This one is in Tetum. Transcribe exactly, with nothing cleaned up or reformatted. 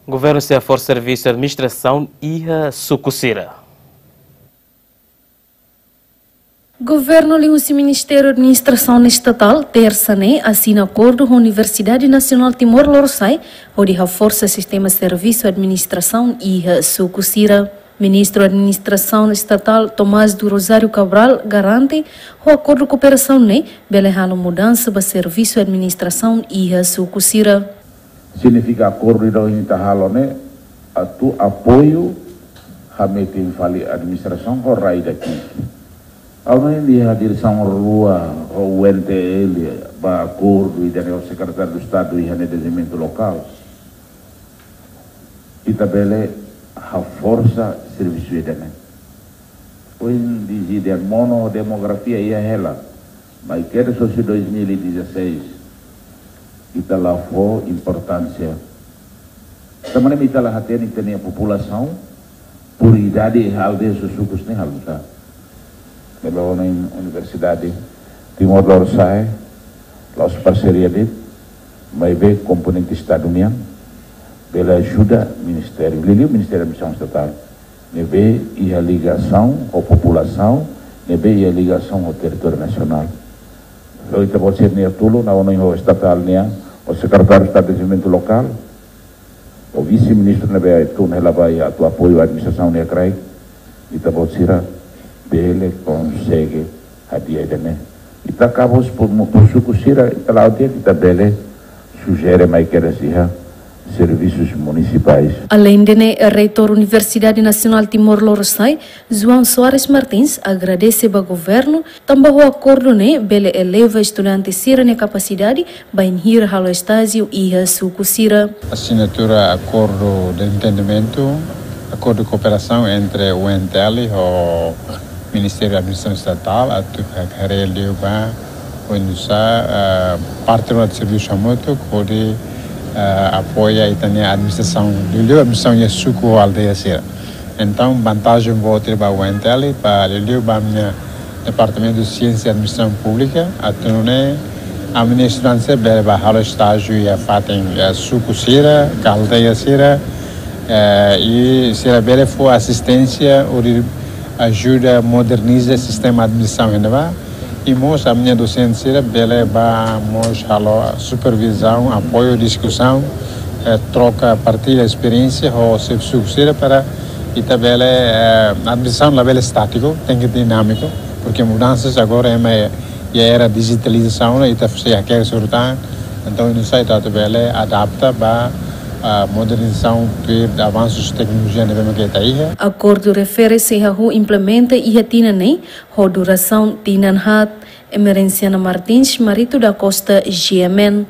Governu sei haforsa servisu administrasaun iha suku sira. Governu liuhusi Ministériu Administrasaun Estatál, tersa ne'e, asina akordu ho Universidade Nasionál Timor Lorosa'e, hodi haforsa sistema servisu administrasaun iha suku sira. Ministru Administrasaun Estatál Tomás do Rosário Cabral garante, ho akordu kooperasaun ne'e, bele halo mudansa ba servisu administrasaun iha suku sira. Signifika akordu ida ohin ita halo ne'e atu apoiu hametin fali administrasaun ho rai daki. Ha'u hanoin iha diresaun rua ho U N T L ba akordu ida-ne'e ho Sekretáriu Estadu iha dezenvolvimentu lokál. Ita bele haforsa servisu ida-ne'e. Ohin disidente mono demografia iha hela, maibé kedas husi dois mil e dezasseis, ita la fó importánsia. Tanba ne'e ita la hatene ita-nia populasaun, por idade, aldeia, suku sira-ne'e halo nu'usá. Ne'ebé ohin Universidade Timor Lorosa'e, la'ós parseria de'it, maibé komponente Estadu nian, bele ajuda Ministériu, liuliu Ministériu Administrasaun Estatál, ne'ebé iha ligasaun ho populasaun, ne'ebé iha ligasaun ho territóriu nasionál. Ho ita-boot sira-nia tulun, ha'u hanoin ho estatál nian, ho Sekretáriu Estadu Dezenvolvimentu Lokál, ho vise-ministru ne'ebé tun hela ba iha atu apoiu administrasaun nia kraik, ita-boot sira bele konsege hadi'a ida-ne'e. Ita kabu por, por suku sira, ita la'o tiha, ita bele sujere mai kedas iha servisus munisipais. Aleinde ne'e, Reitór Universidade Nasionál Timor Lorosa'e, João Soares Martins, agradese ba governu, tanba ho akordu ne'e bele eleva estudante sira-nia kapasidade, bainhira halo estájiu iha suku sira. Asinatura akordu de entendimentu, akordu kooperasaun entre U N T L ho Ministériu Administrasaun Estatál, atu ha-, haree liu ba oinsá, eh, parte do servisu hamutuk, hodi, eh, apoia ita-nia administrasaun, liuliu administrasaun iha suku ho aldeia sira. Entaun, vantajen boot ba U N T L, ba liuliu ba ami-nia Departamentu Siénsia Administrasaun Públika, atu nune'e ami-nia estudante sira bele ba halo estájiu iha fatin, iha suku sira, ka aldeia sira, eh, i sira bele fó asisténsia hodi ajuda moderniza sistema administrasaun iha ne'ebá. I mós ami-nia dosente sira bele ba mós halo supervizaun, apoiu, diskusaun, eh, troka, partilla esperiénsia ho xefe suku sira para ita bele, eh, administrasaun labele estátiku, tenke dinámiku, porke mudansas agora ema iha era dijitalizasaun, ita sei hakerek sira tan. Entaun, oinsá ita atu bele adapta ba, ah, modernizasaun, tuir avansus teknolojia ne'ebé mak ita iha. Akordu refere sei hahú implementa iha tinan ne'e, ho durasaun tinan haat. Emerenciana Martins, Marito da Costa, G M N.